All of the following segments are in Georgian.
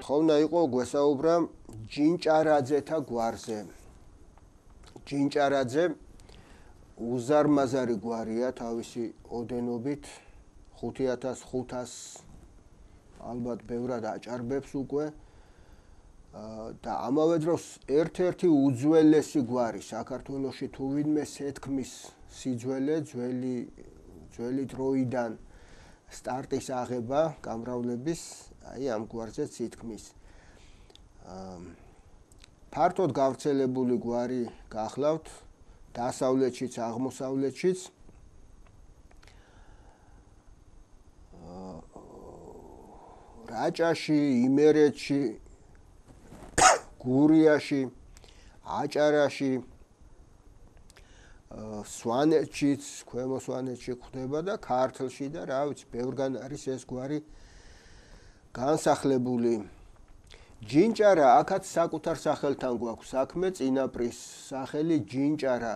მოთხოვნა იყო გვესაუბრა ჯინჭარაძეთა გვარზე. ჯინჭარაძე უზარმაზარი გვარია თავისი ოდენობით 5500 ალბათ ბევრად აჭარბებს უკვე და ამავე დროს ერთ-ერთი უძველესი გვარი საქართველოში თუ ვინმე სეთქმის სიძველე ძველი დროიდან სტარტის აღება გამრავლების აი ამ გვარზე სითქმის ფართოდ გავრცელებული გვარი გახლავთ დასავლეთშიც აღმოსავლეთშიც რაჭაში იმერეთში გურიაში აჭარაში სვანეთშიც ქვემო სვანეთში გვხვდება და ქართლში და რა ვიცი ბევრგან არის ეს გვარი განსახლებული ჯინჭარა აქაც საკუთარ სახელთან გვაქვს საქმე წინაპრის სახელი ჯინჭარა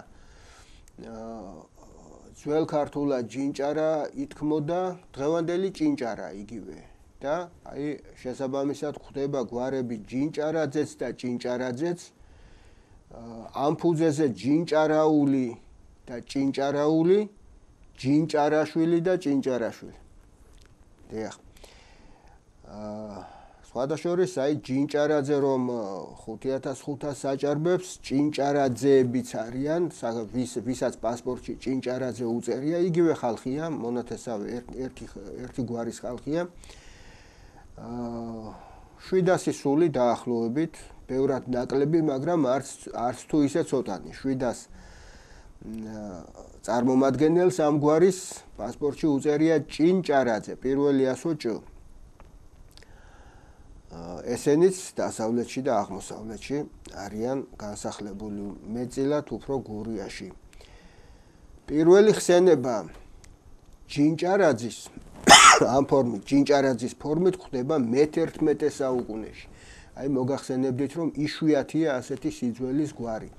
ძველ ქართულად ჯინჭარა ითქმოდა დღევანდელი ჭინჭარა იგივე და აი შესაბამისად გვხვდება გვარები ჯინჭარაძეც და ჭინჭარაძეც ამფუძეზე ჯინჭარაული და ჭინჭარაული ჯინჭარაშვილი და ჭინჭარაშვილი დიახ სხვადასხვა აი ჯინჭარაძე რომ 5500 საჭარბებს ჭინჭარაძეებიც არიან ვისაც პასპორტში ჭინჭარაძე უწერია იგივე ხალხია მონათესავე ერთი გვარის ხალხია 700 სული დაახლოებით ბევრად ნაკლები მაგრამ არც თუ ისე ცოტანი 700 წარმომადგენელს ამ გვარის პასპორტში უწერია ჭინჭარაძე პირველი ასო ჭ ესენიც დასავლეთში და აღმოსავლეთში არიან განსახლებული მეტწილად უფრო გურიაში პირველი ხსენება ჯინჭარაძის ამ ფორმით ჯინჭარაძის ფორმით ხდება მე-11 საუკუნეში აი მოგახსენებდით რომ იშვიათია ასეთი სიძველის გვარი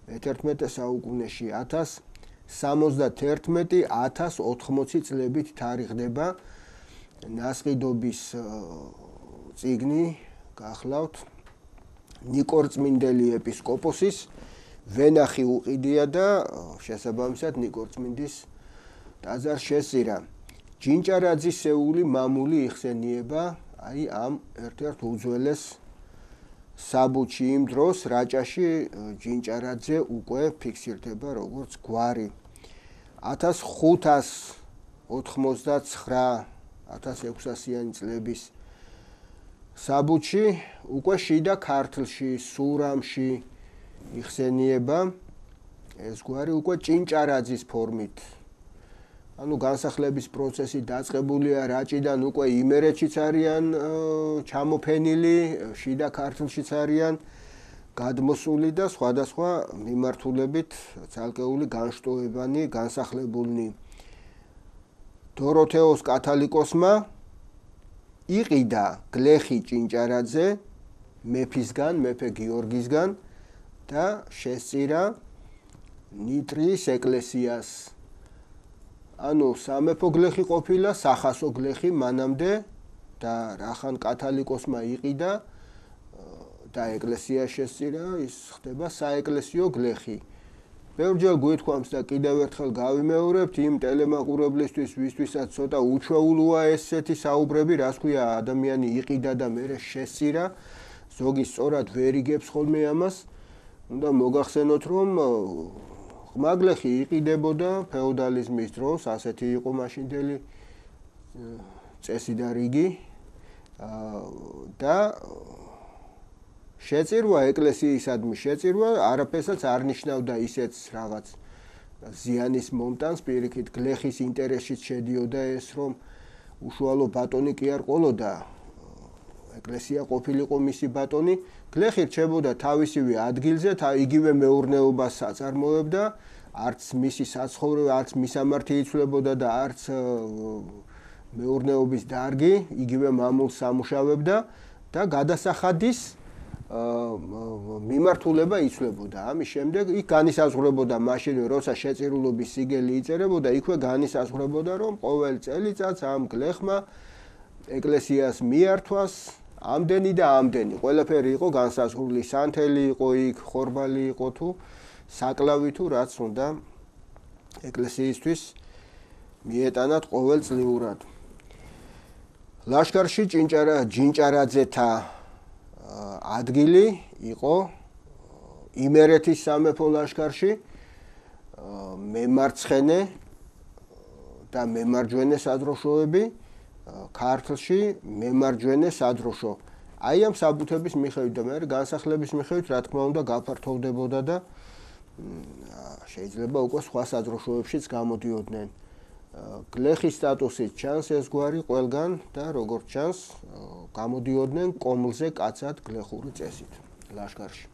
მე-11 საუკუნეში 1071-1080 წლებით თარიღდება ნასყიდობის წიგნი გახლავთ ნიკორწმინდელი ეპისკოპოსის ვენახი უყიდია და შესაბამისად ნიკორწმინდის ტაძარს შესწირა ჯინჭარაძისეული მამული იხსენიება აი ამ ერთ-ერთ უძველეს საბუთში იმ დროს რაჭაში ჯინჭარაძე უკვე ფიქსირდება როგორც გვარი 1599-1600-იანი წლების საბუთში უკვე შიდა ქართლში სურამში იხსენიება ეს გვარი უკვე ჭინჭარაძის ფორმით ანუ განსახლების პროცესი დაწყებულია რაჭიდან უკვე იმერეთშიც არიან ჩამოფენილი შიდა ქართლშიც არიან გადმოსული და სხვადასხვა მიმართულებით ცალკეული განშტოებანი განსახლებულნი დოროთეოს კათალიკოსმა იყიდა გლეხი ჭინჭარაძე მეფისგან მეფე გიორგისგან და შესწირა ნიტრიის ეკლესიას ანუ სამეფო გლეხი ყოფილა სახასო გლეხი მანამდე და რახან კათალიკოსმა იყიდა და ეკლესია შესწირა ის ხდება საეკლესიო გლეხი ბევრჯერ გვითქვამს და კიდევ ერთხელ გავიმეორებთ იმ ტელემაყურებლისთვის ვისთვისაც ცოტა უჩვეულოა ესეთი საუბრები რას ქვია ადამიანი იყიდა და მერე შესწირა ზოგი სწორად ვერ იგებს ხოლმე ამას უნდა მოგახსენოთ რომ ღმაგლეხი იყიდებოდა ფეოდალიზმის დროს ასეთი იყო მაშინდელი წესი და რიგი და შეწირვა ეკლესიისადმი შეწირვა არაფერსაც არ ნიშნავდა ისეც რაღაც ზიანის მომტანს პირიქით გლეხის ინტერესშიც შედიოდა ეს რომ უშუალო ბატონი კი არ ყოლოდა ეკლესია ყოფილიყო მისი ბატონი გლეხი რჩებოდა თავისივე ადგილზე იგივე მეურნეობას აწარმოებდა არც მისი საცხოვრებელი არც მისამართი იცვლებოდა და არც მეურნეობის დარგი იგივე მამულს სამუშავებდა და გადასახადის მიმართულება იცვლებოდა ამის შემდეგ იქ განისაზღვრებოდა მაშინ როცა შეწირულობის სიგელი იწერებოდა იქვე განისაზღვრებოდა რომ ყოველ წელიწადს ამ გლეხმა ეკლესიას მიართვას ამდენი და ამდენი, ყველაფერი იყო განსაზღვრული, სანთელი იყო იქ, ხორბალი იყო თუ საკლავი თუ რაც უნდა ეკლესიისთვის მიეტანათ ყოველწლიურად. ლაშქარში ჯინჭარაძეთა ადგილი იყო იმერეთის სამეფო ლაშქარში, მემარცხენე და მემარჯვენე სადროშოები, ქართლში მემარჯვენე სადროშო. აი ამ საბუთების მიხედვით და მე განსახლების მიხედვით, რა თქმა უნდა, გაფართოვდებოდა და შეიძლება უკვე სხვა სადროშოებშიც გამოდიოდნენ. გლეხის სტატუსით ჩანს ეს გვარი ყველგან და როგორც ჩანს, გამოდიოდნენ კომლზე კაცად გლეხური წესით ლაშქარში.